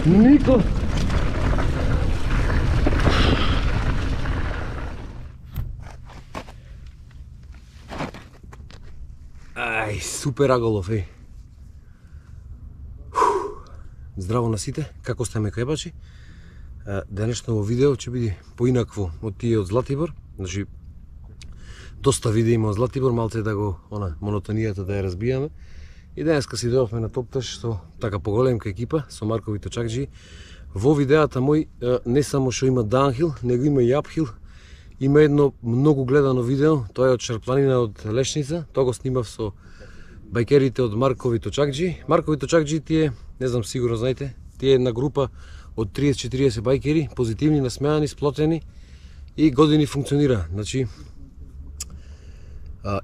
Нико. Ај, супер аголов, еј. Здраво на сите, како сте ме кајбачи? Денешно видео ќе биде поинакво од тие од Златибор. Значи, доста видео има од Златибор, малце да го, монотонијата да ја разбијаме. И денеска си дојдовме на Топташ со така поголемка екипа, со Маркови точакџи. Во видеата мој не само што има даунхил, него има и апхил. Има едно многу гледано видео, тоа е од Шарпланина од Лешница, тоа го снимав со бајкерите од Маркови точакџи. Маркови точакџи тие, не знам сигурно знаете, тие една група од 30-40 бајкери, позитивни, насмеани, сплотени и години функционира. Значи,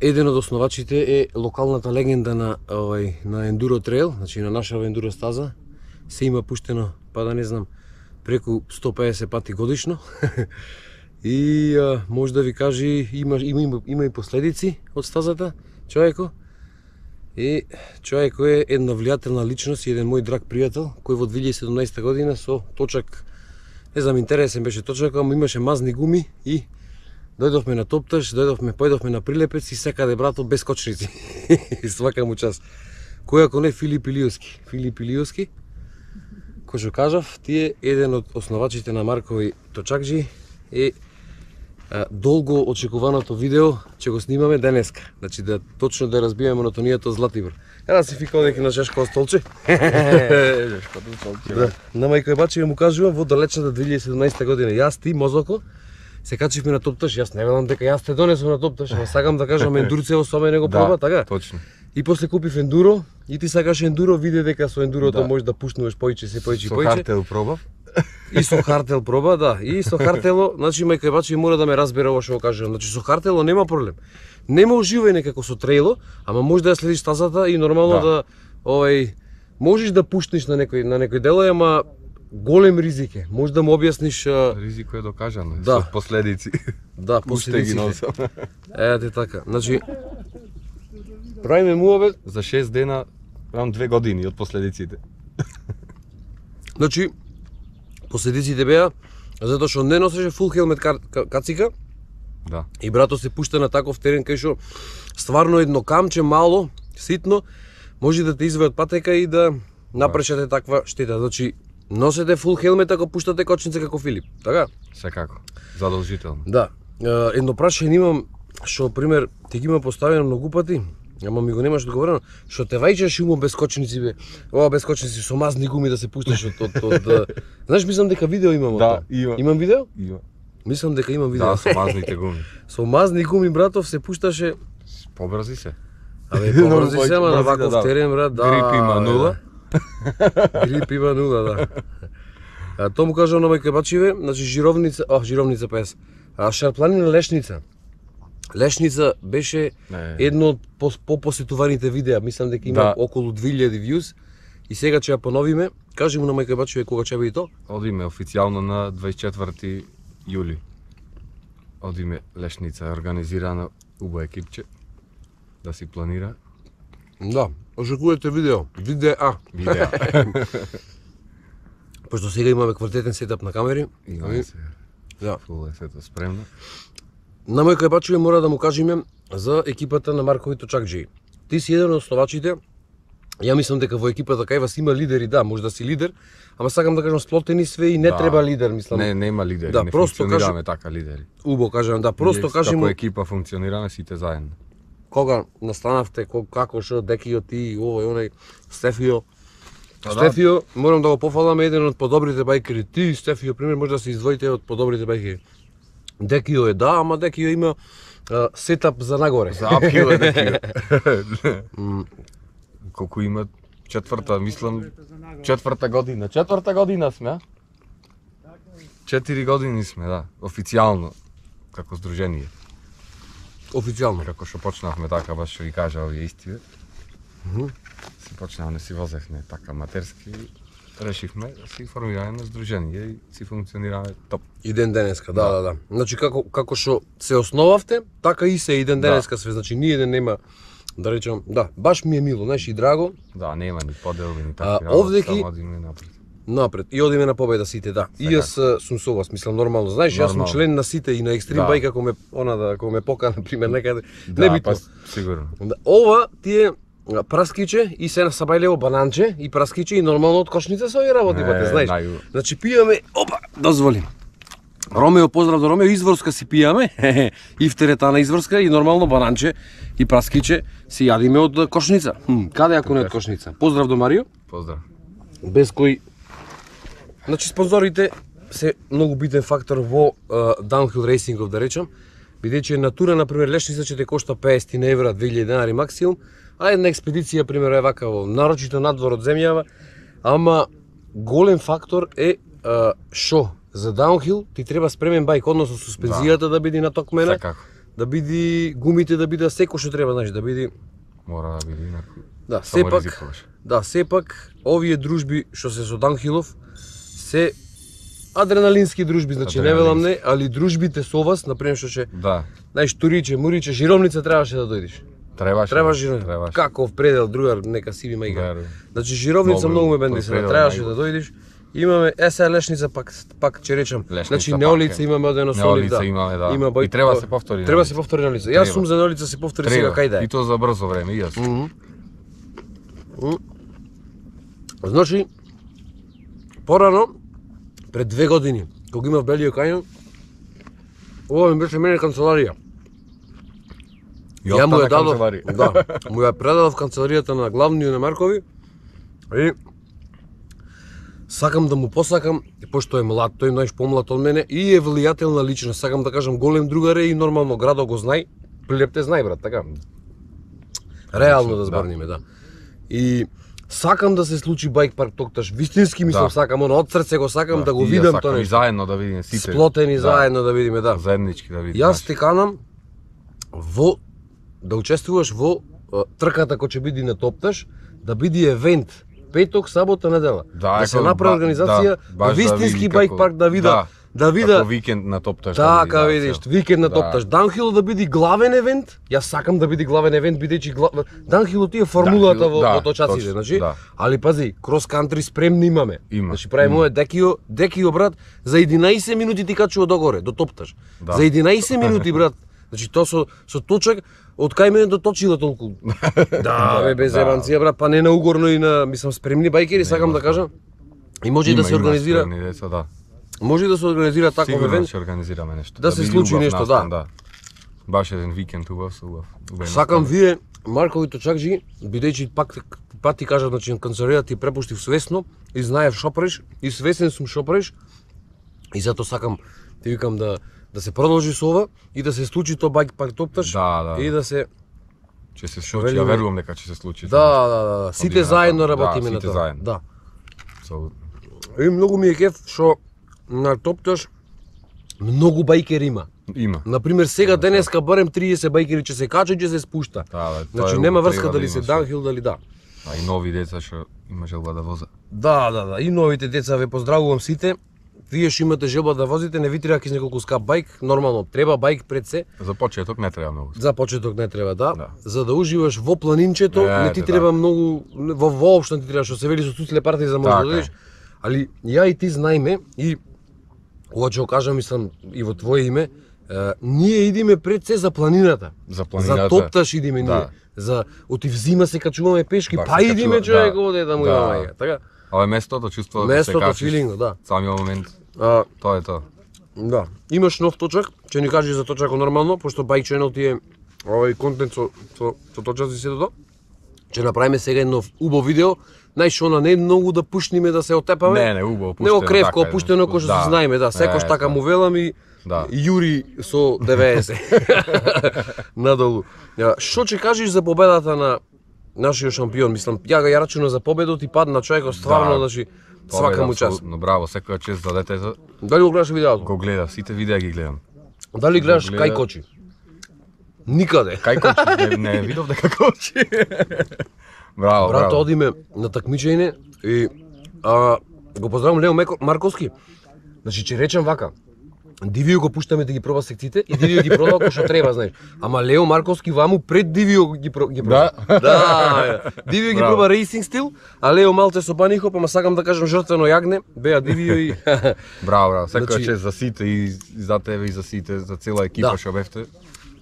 еден од основачите е локалната легенда на Ендуро трейл, значи на наша Ендуро стаза. Се има пуштено, па да не знам, преку 150 пати годишно. И може да ви кажи, има и последици од стазата, човеко. И човеко е една влијателна личност и еден мој драг пријател, кој во 2017 година со точак, не знам, интересен беше точак, ама имаше мазни гуми и дојдовме на Топташ, појдовме на Прилепец и секаде брато без кочници. Свака му час. Кој ако не Филип Илиовски. Филип Илиовски, кој што кажав, тие еден од основачите на Маркови точакџи е долго очекуваното видео ќе го снимаме денеска. Значи да точно да разбиеме монотонијата од Златибор. Еда си фика одеки на шешко столче. Да. На мајка бачи му кажувам во далечната 2017 година. Јас, ти, Мозоко, се качивме на Топташ. Јас не велам дека јас те донесов на Топташ, ама сакам да кажам ендурцево со мене го проба, така? Точно. И после купив ендуро и ти сакаш ендуро, виде дека со ендурото можеш да пушнуваш поиќе. Со хартел пробав. И со хартел проба, да. И со хартело, значи мајка бачи мора да ме разбере ова што го кажувам. Значи со хартело нема проблем. Нема уживање некако со трейло, ама може да ја следиш стазата и нормално да можеш да пуштиш на некој дело, ама голем ризик е. Може да му објасниш ризико е докажано, да. Со последици. Да, последиците. Ете така. Значи правиме муавет за 6 дена, правам 2 години од последиците. Значи последиците беа затоа што не носеше фул хелмет кацика. Да. И брато се пушта на таков терен кај што стварно едно камче мало, ситно, може да те извади од патека и да напрешате таква штета. Значи носете фул хелмет ако пуштате кочница како Филип, така? Секако. Задолжително. Да. Едно прашање имам што пример ти ги има поставено многу пати. Ама ми го немаш одговорено, што те вајчаш умо без кочници бе. Ова без кочници со мазни гуми да се пушташ од знаеш, мислам дека видео имам. Да, има. Имам видео? Има. Мислам дека имам видео. Да, со мазните гуми. Со мазни гуми, братов, се пушташе. Побрзи се. Абе, побрзи се, ама на ваков терен, брат, да. Грип има 0. Грип има 0, да. Тоа му кажам на мајка бачиве, значи жировница 50. Шарпланина Лешница. Лешница беше едно од попосетуваните видеа, мислам дека има околу 2000 views и сега ќе ја поновиме. Кажи му на мајка бачиве кога ќе биде тоа? Одиме официјално на 24 јули. Одиме Лешница, организирано убаво екипче да си планира. Да, очекувате видео. Видеа. Пошто сега имаме квалитетен сетап на камери. Имаме се. Да. Фул е сето спремно. На мајка бачиве мора да му кажеме за екипата на Маркови точакџи. Ти си еден од основачите. Ја мислам дека во екипата кај вас има лидери, да, може да си лидер, ама сакам да кажам сплотени све и не треба лидер, мислам. Не, нема лидери, да, не функционираме така лидери. Убо кажам, да, просто кажи му како екипа функционираме сите заедно. Кога настанавте, како што Декио, ти, овој, оној, Стефио. Стефио, морам да го пофалам, еден од подобрите бајкери. Ти, Стефио, пример, може да се издвоите од подобрите бајкери. Декио е, да, ама Декио има сетап за нагоре. За апхил е Декио. Колку има четврта година сме, а? 4 години сме, да, официјално, како здружение. Официјално. Како што почнавме така, баш што ви кажа овие истиве. Си почнавме, си возехме така матерски, решивме да си формираме на здружение и си функционираме топ. И ден денеска, да. Значи како што се основавте, така и се и ден денеска све. Значи ни еден нема, да речам, да, баш ми е мило, знаеш, и драго. Да, нема ни поделби ни такви овдеки само одиме напред. Напред и одиме на победа сите, да. И јас сум со вас, мислам нормално. Знаеш, јас сум член на сите и на Extreme Bike ако ме покана на пример некаде. Не битно. Сигурно. Ова ти е праскиче и се насабајлево бананче и праскиче и нормално од кошница со овие работи, бате, знаеш. Значи пијаме, опа, дозволи. Ромео, поздрав до Ромео, изворска си пијаме, и втеретана изворска и нормално бананче и праскиче си јадиме од кошница. Каде ако не од кошница? Поздрав до Марио. Поздрав. Без кој... Значи спонзорите се многу битен фактор во downhill рейсингов, да речам, бидејќи натура, например, лешница ќе те кошта 50 евра, 2000 денари максимум, а една експедиција, пример, е вака во нарочито надвор од земјава, ама голем фактор е шо? За downhill ти треба спремен бајк, односно суспензијата да биде натокмена, да биде гумите да биде секој што треба, знаеш, да биде... Мора да биде инаку. Да, сепак овие дружби што се со downhillов се адреналински дружби, значи не велам не, али дружбите со вас, например што ќе, знаеш, туриче, муриче, жировница требаше да дојдеш. Требаше жировница. Каков предел, другар, нека си ви мајка. Значи жировница многу ме бендисира, требаше да дојдеш. Имаме сега лешница пак ќе речам. Значи неолица имаме од едно солид, да. Има и треба се повтори. Треба се повтори неолица. Јас сум за неолица се повтори сега кај да е. И тоа за брзо време, и јас. Значи порано пред 2 години, кога имав Белио Кањон, ова ми беше мене канцеларија. Ја му ја дадов, му ја предадов канцеларијата на главниот на Маркови и сакам да му посакам, пошто е млад, тој знаеш помлад од мене и е влијателна личност, сакам да кажам голем другар е и нормално градот го знај, Прилеп те знај брат, така. Реално да зборниме, да. И сакам да се случи Bike Park Токташ, вистински мислам сакам, од срце го сакам да го видам тоа нешто. И заедно да видиме сите. Сплотени заедно да видиме, да. Заеднички да видиме. Јас те канам во да учествуваш во трката која ќе биде на Топташ, да биде евент петок, сабота, недела. Да се направи организација, вистински Bike Park да вида како викенд на Топташ. Така видиш, викенд на Топташ. Downhill да биде главен евент. Јас сакам да биде главен евент бидејќи Downhill ти е формулата во точаците, значи. Али пази, крос кантри спремни имаме. Значи правиме овој Декио брат, за 11 минути ти качува догоре до Топташ. За 11 минути брат. Значи тоа со точак од кај мене до Точила толку. Да, без зебанција брат, па не на угорно и на, мислам, спремни бајкери, сакам да кажам. И може да се организира. Може да се организира таков евент. Сигурно ќе организираме нешто. Да се случи нешто, да. Баш еден викенд убав. Сакам вие Маркови точакџи, бидејќи пак ти кажав, значи канцеларијата ти препуштив свесно и знаев шо правиш и свесен сум шо правиш. И затоа сакам ти викам да се продолжи со ова и да се случи тоа Bike Park Топташ и да се ќе се случи, ја верувам дека ќе се случи. Да. Сите заедно работиме на тоа. Да. И многу ми е кеф што на Топташ многу бајкери има. Например, сега денеска барем 30 бајкери ќе се качат, ќе се спушта. Значи нема врска дали се downhill дали да. А и нови деца што има желба да возат. Да. И новите деца ве поздравувам сите. Вие што имате желба да возите, не ви треба ке неколку скап бајк, нормално треба бајк пред се. За почеток не треба многу. За почеток не треба, да. За да уживаш во планинчето, не ти треба многу, воопшто не ти треба, што се вели со туцле парти за може да дојдеш. Али ја и ти знаеме и ова ќе го кажам, мислам, и во твое име, ние идиме пред се за планината. За Топташ идиме ние. За отив зима се качуваме пешки, па идиме човек оде да му има мајка, така. Ова е местото, чувствуваш да се качиш. Филинго, да. Самиот момент. Тоа е тоа. Да. Имаш нов точак, ќе ни кажи за точакот нормално, пошто Bike Channel ти е овој контент со точаци се тоа. Ќе направиме сега едно убаво видео. Знаеш, она не е многу да пушниме да се отепаме. Не, убаво пуштено. Не кревко опуштено кој што се знаеме, да, секој така му велам и Јури со 90. Надолу. Што ќе кажеш за победата на нашиот шампион? Мислам, ја рачунав за победот и падна човекот стварно, значи свака му чест. Но браво, секоја чест за детето. Дали го гледаш видеото? Го гледав, сите видеа ги гледам. Дали гледаш кај кочи? Никаде. Кај кочи? Не видов дека кочи. Браво, Брато, браво. одиме на такмичење и го поздравам Лео Марковски. Значи, че речем вака, Дивио го пуштаме да ги проба секциите и Дивио ги проба како што треба, знаеш. Ама Лео Марковски ваму пред Дивио ги проба. Да. Дивио ги Браво. проба рейсинг стил, а Лео малце со панихоп, ама сакам да кажам жртвено јагне, беа Дивио и Браво, секоја Значи- чест за сите и за тебе и за сите, за цела екипа Да. што бевте.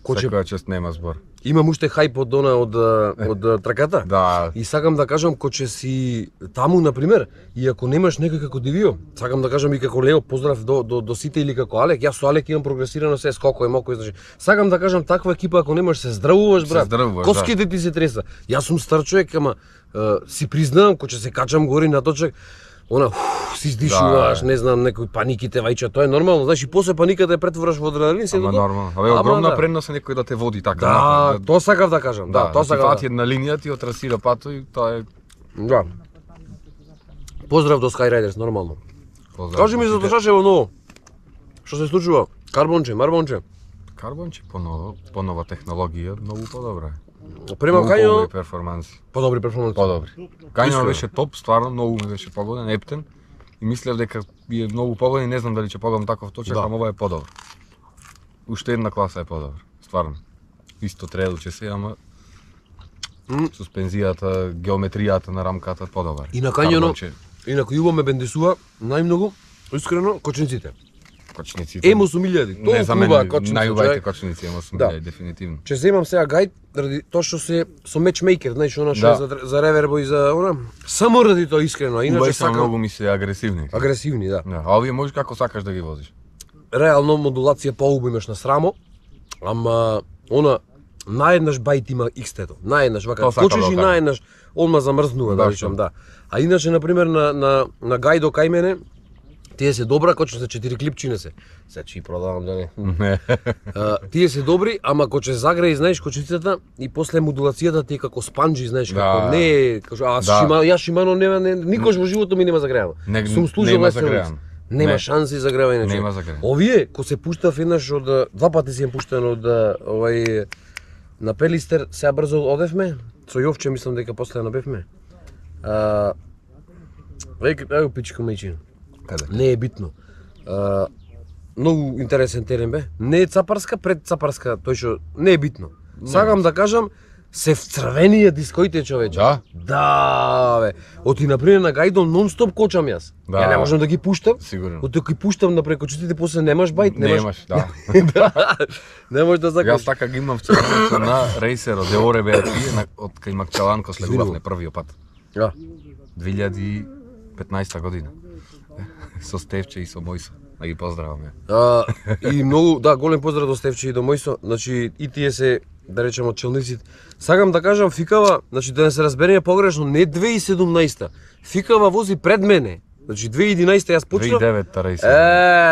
Коче- Секоја чест нема збор. имам уште хајп од траката. Да, И сакам да кажам ко че си таму на пример, и ако немаш некој како Дивио, сакам да кажам и како Лео, поздрав до сите или како Алек, јас со Алек имам прогресирано се скоко и моко, значи. Сакам да кажам таква екипа ако немаш се здравуваш брат. здравуваш, Коските ти се треса. Јас сум стар човек, ама си признавам ко че се качам гори на точак, си издишуваш, Да. не знам, некои паниките вајча, тоа е нормално, значи после паниката ја претвораш во адреналин, се ама тоа. нормално. Абе, Ама огромна да. предност е некој да те води така. Да, напред, тоа сакав да кажам, да, тоа ти сакав. фати една линија, ти отрасира пато и тоа е Да. Поздрав до Skyriders, нормално. поздрав. Кажи ми за Тошашево ново. Што се случува? Карбонче, марбонче. Карбонче по нова технологија, многу подобра. Према Многу Кањо, подобри перформанси. подобри перформанси. Подобри. Кањо Искрено. беше топ, стварно многу ми беше погоден, ептен. И мислев дека е многу погоден, не знам дали ќе погодам таков точак, Да. ама ова е подобро. Уште една класа е подобро, стварно. Исто трейл ќе се, ама суспензијата, геометријата на рамката подобар. И на Кањоно, Карбонче, инаку Јубо ме бендесува најмногу, искрено, кочниците. кочниците. Емо сум илјади, Не за толку мене, убава кочници, најубавите човек. кочници, ама сум Да. да. дефинитивно. Ќе земам сега гајд, ради тоа што се со матчмейкер, знаеш, она што Да. е за ревербо и за она, само ради тоа искрено, а иначе Убави се сакам многу ми се агресивни. агресивни, да. Да, а овие можеш како сакаш да ги возиш. Реално модулација поубаво имаш на срамо, ама она наеднаш бајт има X-тето. Наеднаш вака Тоа сакам почеш да и кажам. наеднаш одма замрзнува, да Да, речам, што? да. А иначе на пример на гајдо кај мене тие се добра, коче за 4 клипчине се. Се чи продавам да не. Не. Тие се добри, ама коче загреи, знаеш, кочицата и после модулацијата ти е како спанџи, знаеш, како Да. не е, кажу, Да. јас Шимано никош во животот ми нема загреано. Не- Сум служил нема на селец. загреано. Нема Не. шанси за гревање. Нема загреано. Овие, ко се пуштав еднаш од два пати си им пуштен од овај на Пелистер, сега брзо одевме, со Јовче мислам дека после набевме. Еј пичка мајчин. Каде? Не е битно. Многу интересен терен бе. Не е Цапарска, пред Цапарска, тој што не е битно. Сакам да кажам, се вцрвенија дискоите, човече. Да? Да, бе. Оти например на гајдон нон-стоп кочам јас. Да. Ја не можам да ги пуштам. Сигурно. Оти ако ги пуштам на прекочиците, после немаш бајт, Немаш, да. да. Не можеш да Јас закаш. така ги имам вчерането на рейсеро, де оре беа тие, од кај Макчаланко слегувавме првиот пат. Да. 2015 година. Со Стевче и со Мојсо. Да ги поздраваме. И многу, да, голем поздрав до Стевче и до Мојсо. Значи, и тие се, да речем, од челниците. Сакам да кажам, Фикава, значи да не се разбереме погрешно, не 2017-та. Фикава вози пред мене. Значи 2011-та јас почнав. 2009-та рейсер.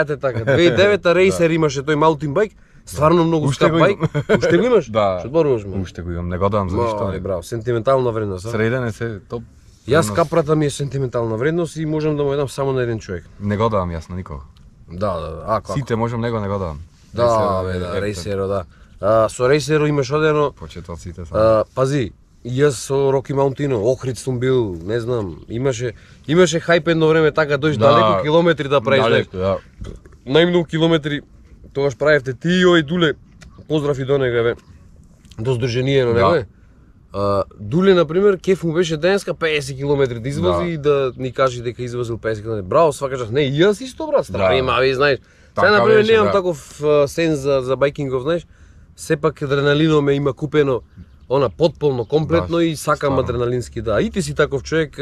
Те така. 2009-та рейсер имаше тој маутин байк. Стварно многу Уште скап го байк. имам. Уште го имаш? Да. Што зборуваш ме? Уште го имам, не го давам за ништо. Мај, браво, сентиментална вредност, а? Среден е се топ. Јас капрата ми е сентиментална вредност и можам да му ја дам само на еден човек. Не го давам јас на никого. Да, ако. Сите можам, него не го давам. Да, Рейсерот бе, е да, ептен. рейсеро, да. Со рейсеро имаш одено, Почетоците само. пази, јас со Роки Маунтино, Охрид сум бил, не знам, имаше хајп едно време така дојш Да. далеко километри да правиш, знаеш. Далеко, да. Најмногу километри тогаш правевте ти и ој Дуле. Поздрав и до него, бе. До здруженијето, него Да. е. Дуле, например, кеф му беше денеска 50 км да извози Да. и да ни каже дека извозил 50 км. Браво, свака не, и јас исто, брат, страви, Да. мави, знаеш. Сега, Така например, беше, немам да. таков сенс за байкингов, знаеш. Сепак адреналино ме има купено она потполно, комплетно Да, и сакам стварно. адреналински, да. И ти си таков човек,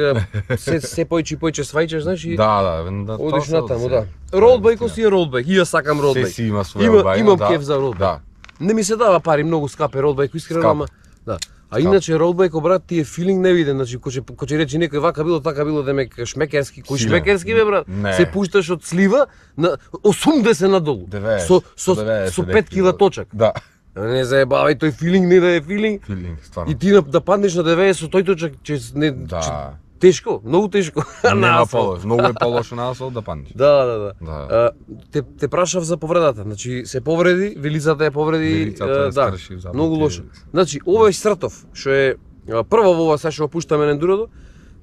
се појче свајчеш, знаеш, и Да, одиш тоа натаму, се- да. Роудбајкот си е роудбајк, и јас сакам Се роудбајк. си има своја баја, Имам да. кеф за роудбајк. Да. Не ми се дава пари, многу скап е роудбајк, искрено, Скап. ама да. А иначе роудбајк брат ти е филинг невиден, значи кој рече некој вака било, така било, демек шмекерски, кој Силен. шмекерски бе брат? Не. Се пушташ од слива на 80 надолу. 90, Со 5 кила точак. Да. Не заебавај, тој филинг не да е филинг. Филинг, стварно. И ти да паднеш на 90 со тој точак, че Да. тешко, многу тешко. На Нема асфалт. полош, многу е полошо на асфалт да паднеш. Да. Да. Те прашав за повредата. Значи се повреди, вилицата ја повреди, Вилицата ја да. скрши, запати. Многу лошо. Значи, ова е Сртов, што е Прво во ова се што пуштаме на ендурото,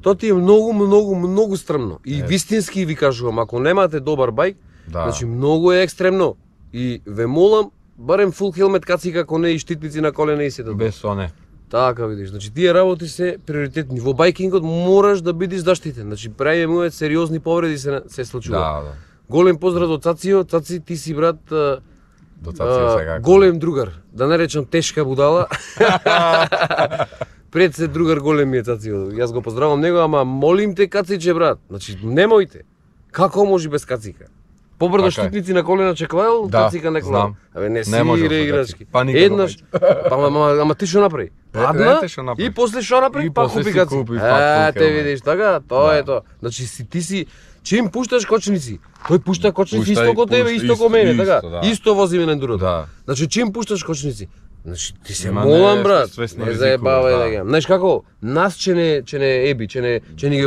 тоа ти е многу стрмно. И вистински ви кажувам, ако немате добар бајк, значи многу е екстремно. И ве молам, барем фул хелмет кацика, ако не и штитници на колена и се да. Без оне. Така видиш, значи тие работи се приоритетни. Во бајкингот мораш да бидеш заштитен. Значи прави му сериозни повреди се случува. Да. Голем поздрав до Цацио, Цаци ти си брат До Цацио сега. голем другар, да не речам тешка будала. Пред се другар голем ми е Цацио. Јас го поздравам него, ама молим те Кациче брат. Значи немојте. Како може без кацика? Побрдо штитници на колена чеклаел, кацика не клаел. Абе не си играчки. Еднаш, ама ти што направи? Падна и после што направи? Па купи кацика. Те видиш, така, тоа е тоа. Значи ти си чим пушташ кочници, тој пушта кочници исто ко тебе, исто ко мене, така. Исто возиме на ендурото. Значи чим пушташ кочници? Значи ти се молам брат, не заебавај да. Знаеш како? Нас че не еби, че ни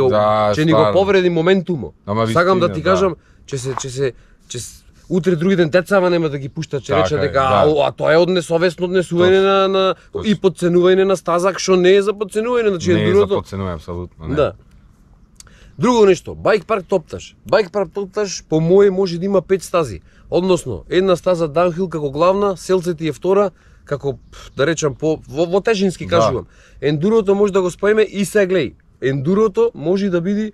го повреди моментумо. Сакам да ти кажам, че утре други ден тецава нема да ги пушта, че рече дека а тоа е од несовесно однесување и подценување на стаза, што не е за подценување, значи ендурото. Не е за подценување апсолутно, не. Да. Друго нешто, бајк парк топташ. Бајк парк топташ по моje може да има 5 стази. Односно, една стаза даунхил како главна, селце ти е втора, како да речам во тежински кажувам. Ендурото може да го споиме и се глеј. Ендурото може да биде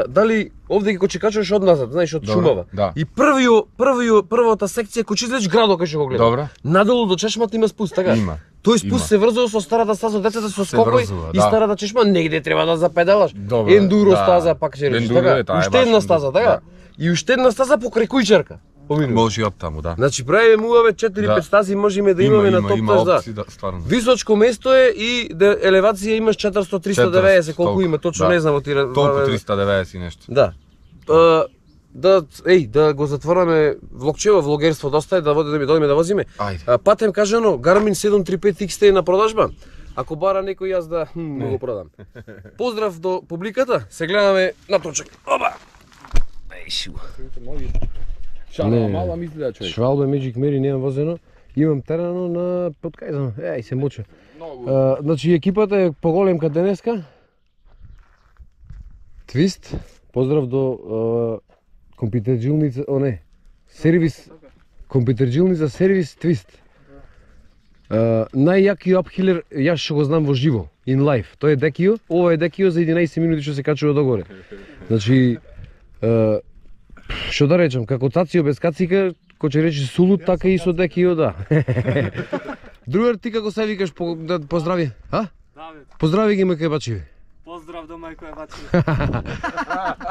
дали овде ги качуваш од назад, знаеш, од шумава. И првата секција кој излез градо кај што го гледа. Добра. Надолу до чешмата има спуст, така? Има. Тој спуст се врзува со старата стаза, децата со скокој и старата чешма негде треба да запедалаш. Ендуро стаза пак ќе речеш, така? Уште една стаза, така? И уште една стаза покрај кујчарка. Може и од таму, да. Значи правиме муаве 4-5 стази можеме да имаме на топташ, да. Височко место е и елевација имаш 400-390, колку има, точно не знам од тие. Толку 390 и нешто. Да. Да го затвораме влогчево, влогерство доста е, да дојдеме да возиме. Патем кажано, Garmin 735 XT е на продажба. Ако бара некој јас да го продам. Поздрав до публиката, се гледаме на точак. Опа! Мала мисли да човек. Швалбе Magic Mary немам возено. Имам терано на подкајзано. Еј се моча. Значи екипата е поголемка денеска. Твист. Поздрав до компјутерџилница, сервис. Компјутерџилница сервис Твист. Најјакиот апхилер јас што го знам во живо, in life. Тој е Декио. Ова е Декио за 11 минути што се качува догоре. Значи што да речам, како Цацио без кацика, кој ќе рече сулут, така и со Декио, да. Другар, ти како се викаш да поздрави? Давид. Поздрави ги мајка бачи. Поздрав до мајка бачи.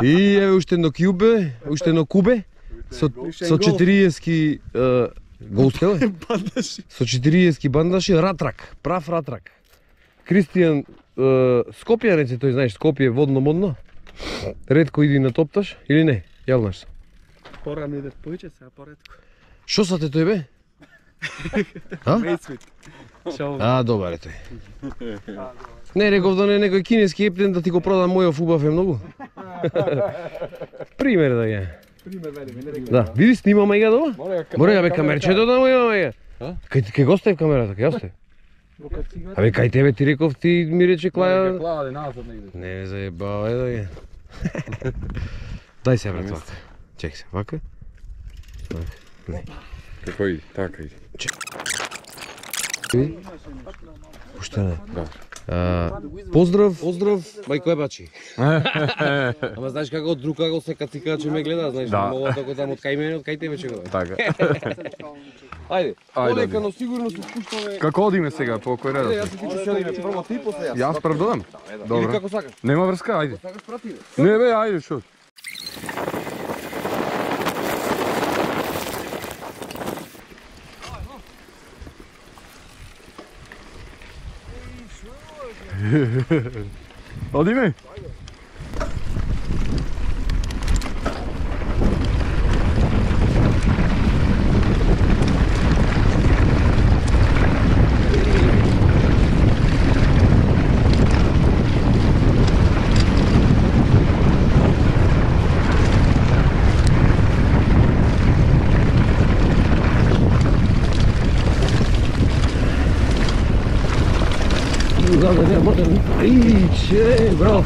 И еве уште едно кјубе, уште едно кубе со 40-ки голстел. Со 40-ки бандаши, ратрак, прав ратрак. Кристијан Скопјанец е тој, знаеш, Скопје водно модно. Ретко иди на топташ или не? Јавнаш се. Порано иде поиќе, сега поретко. Шо са те тој бе? Мејсвит. Добар е тој. Не, реков да не некој кинески ептен да ти го продам мојов убав е многу. Пример да ја. Пример вели. Да, види снимаме ја дома? Море бе камерчето да му имаме ја. Кај го остави камерата, кај остави? Абе кај тебе ти реков, ти ми рече Клаја. Клаја назад негде. Не заебавај да ја. Дај се брат вака. Чек се, вака. Не. Како иди? Така иди. Уште не. Поздрав, мајко ебачи. Ама знаеш како од друг агол се кацика че ме гледа, знаеш, мога тако таму од кај мене, од кај тебе че го. Така. Ајде, полека, но сигурно се спуштаме. Како одиме сега, по кој редот? Јас ти ќе одиме прво ти, после јас. Јас прв додам? Или како сакаш? Нема врска, ајде. Сакаш прати бе? Не бе, ајде, шо? Одиме? Да, не можем. Иче, браво.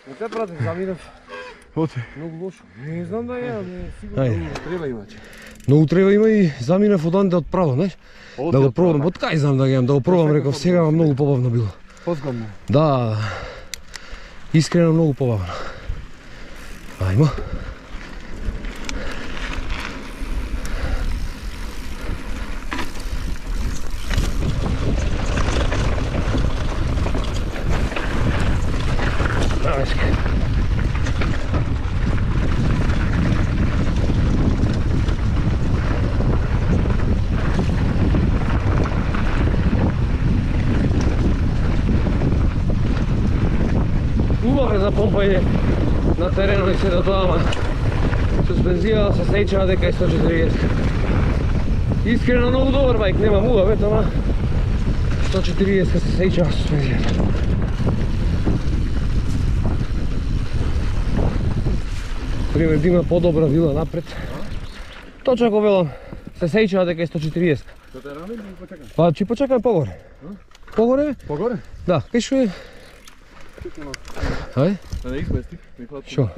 Не те пратим, заминав. Оти. Многу лошо. Не знам да ја, не сигурно треба имаче. Многу треба има и заминав оданде од право, знаеш? Да го пробам, од кај знам да ги имам, да го пробам, реков сега, ама многу побавно било. Позгодно. Да, искрено многу побавно. Ајмо. Убаво за помпање на теренот и се до тоа, ама суспензија се сеќава дека е 140. Искрено многу добар бајк, нема муавет, ама 140 се сеќава суспензијата. Пример, да има подобра вила напред. Точно како велам, се сеќава дека е 140. Да те рамим или почекам? Па ќе почекаме погоре. Погоре? Погоре? Да, кај што е? Ај? Да не изместих, ми фатам. Шо?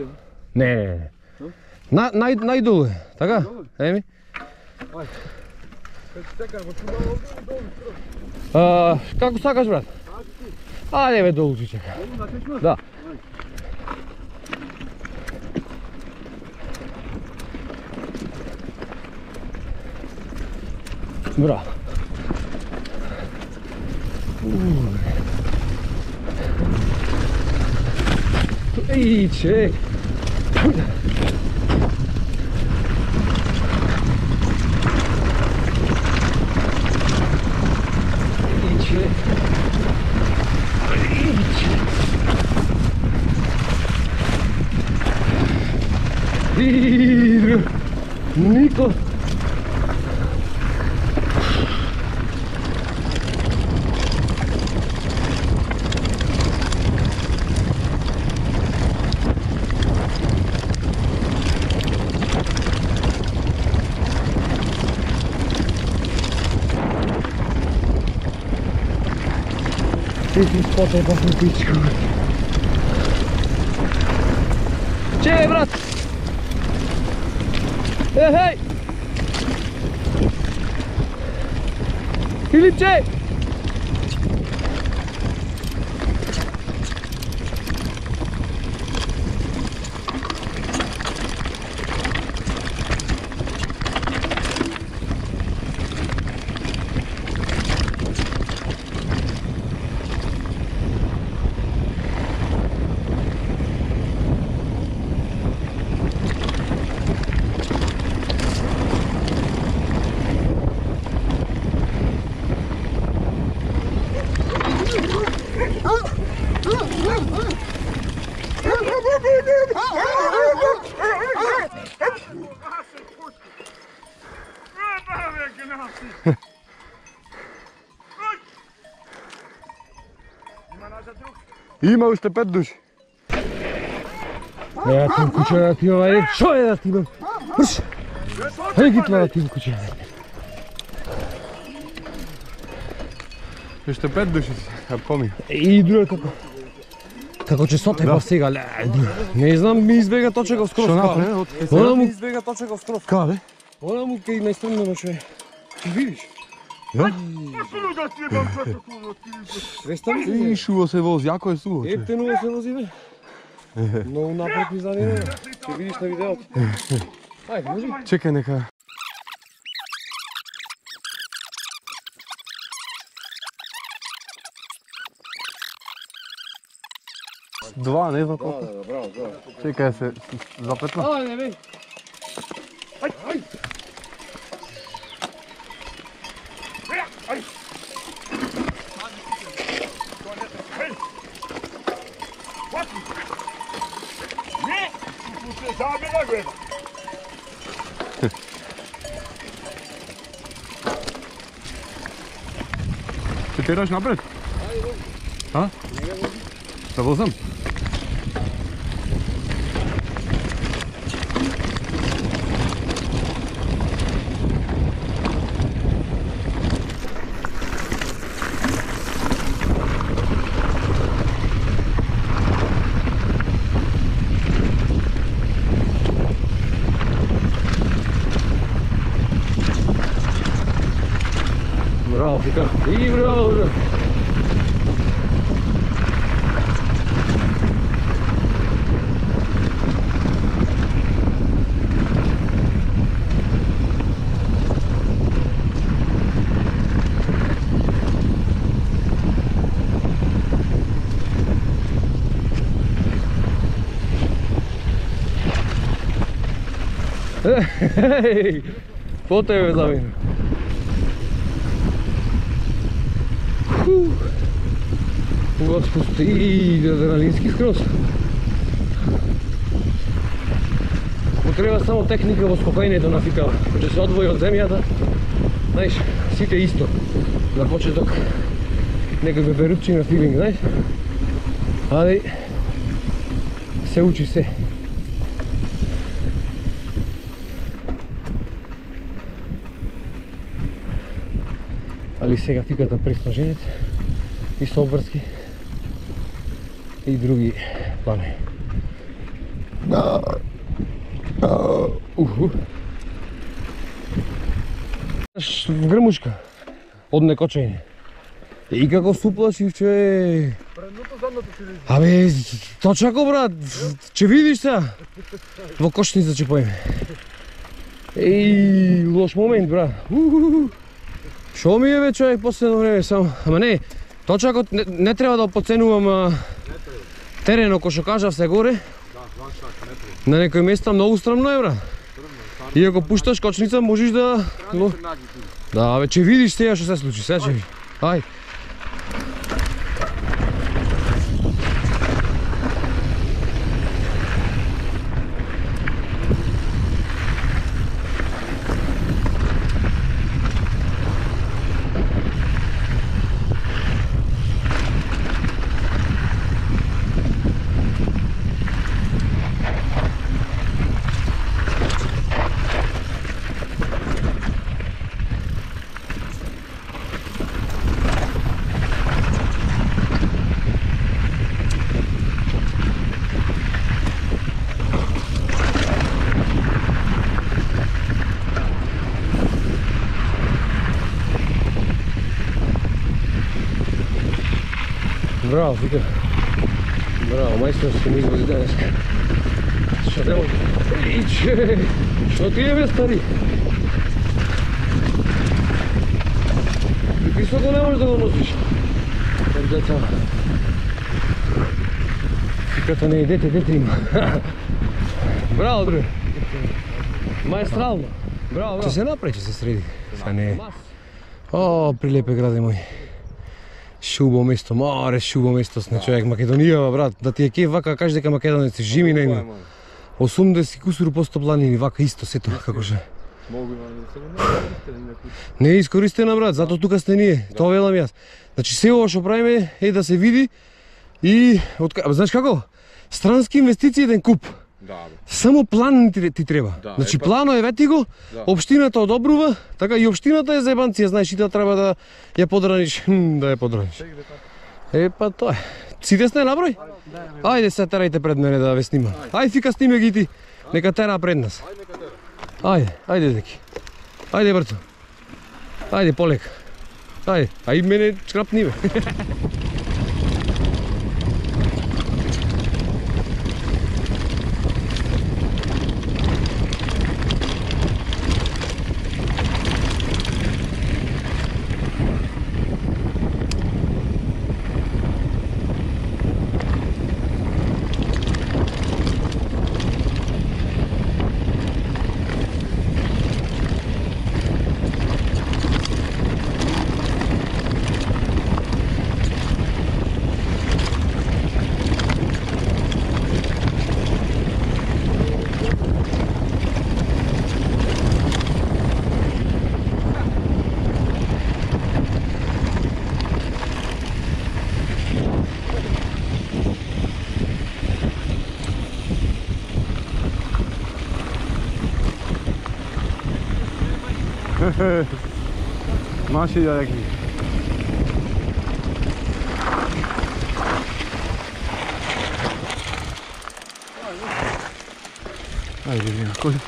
Не. Најдолу е, така? Еми? Ајде. Чекај, го чувам овде. Како сакаш, брат? Ајде бе, долу ти чека. Да. Браво. Ей, чек. Nico. Ti spotaj pa sam pičku. Čekaj, brat! Hej! Filipče! Има уште 5 души. Ја тим куќа да ти ова е. Шо е да ти имам? Мрш! Хај ги това да ти куќа. Уште 5 души си, а коми. И друго како. Како ќе сотепав сега, не знам, ми избега точеков скроз. Што направи? Она му Избега точеков скроз. Каде? Она му кај најстрмнено човек. Ти видиш? Да? Рестам се. И шуво се вози, јако е суво. Ефтено се вози бе. Многу напред ми занima. Ќе видиш на видеото. Ајде, може. Чекај нека. Два, не знам колко. Да, браво, браво. Чекај се запетна. Ајде бе. тераш напред? А? Се возам? Браво, Фика. И браво, браво. Ей, по тебе замина. Господи, и адреналински скроз. Му треба само техника во скокањето на Фикава. Че се одвои од земјата, знаеш, сите исто. На почеток некаква берупчина филинг, знаеш. Али се учи се. Али сега Фиката преснаженец и Собрски и други плани. В грмушка од некочење. И како суплашив, че... Абе, точако брат, че видиш сега? Во кошница че поеме. Еј, лош момент брат. Шо ми е бе човек последно време само? Ама не, точако не треба да подценувам терено, кој што кажав се горе. На некои места многу страмно е брат. И ако пушташ кочница можеш да... Да, бе, че видиш сега што се случи, сега че видиш. Ајде. Браво, Фика. Браво, мајстор се ми изводи денеска. Што треба? Иче! Што ти е бе, стари? И високо не можеш да го носиш. Как деца. Фиката не е дете, дете има. Браво, друг. Маестрално. Браво, браво. Че се направи, че се среди. Са не е. О, прилепе граде мој. Шубо место, море шубо место сне човек. Македонија, брат, да ти е кеф вака, кажеш дека македонеци жими не има. 80 кусур посто планини, вака исто сето како ше. Не е искористена брат, затоа тука сте ние, тоа велам јас. Значи се ова што правиме е да се види и знаеш како? Странски инвестиции еден куп. Само план ти треба. Значи плано е вети го, општината одобрува, така и општината е заебанција, знаеш и да треба да ја подраниш, да ја подраниш. Па тоа е. Сите сте наброј? Ајде се терајте пред мене да ве снимам. Ајде Фика сниме ги ти, нека тера пред нас. Ајде, ајде деки. Ајде брато. Ајде полека. Ајде, а и мене чкрапни бе. Наши јаки. Ајде, някой.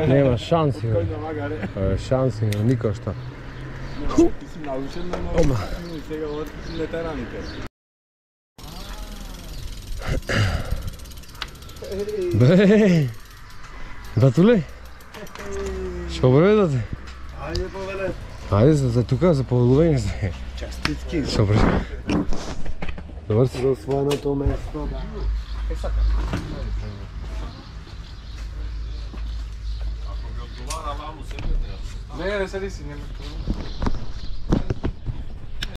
Нема шанси, бе. Шанси, никој што. Ти си научен на много и сега од ветераните. Бе, батуле? Што бре, дате? Ајде, повеле. Ајде, за тука, за повелување се. Честитки. Што бре? Добар си? За освоеното место, да. Не, не седи си, нема.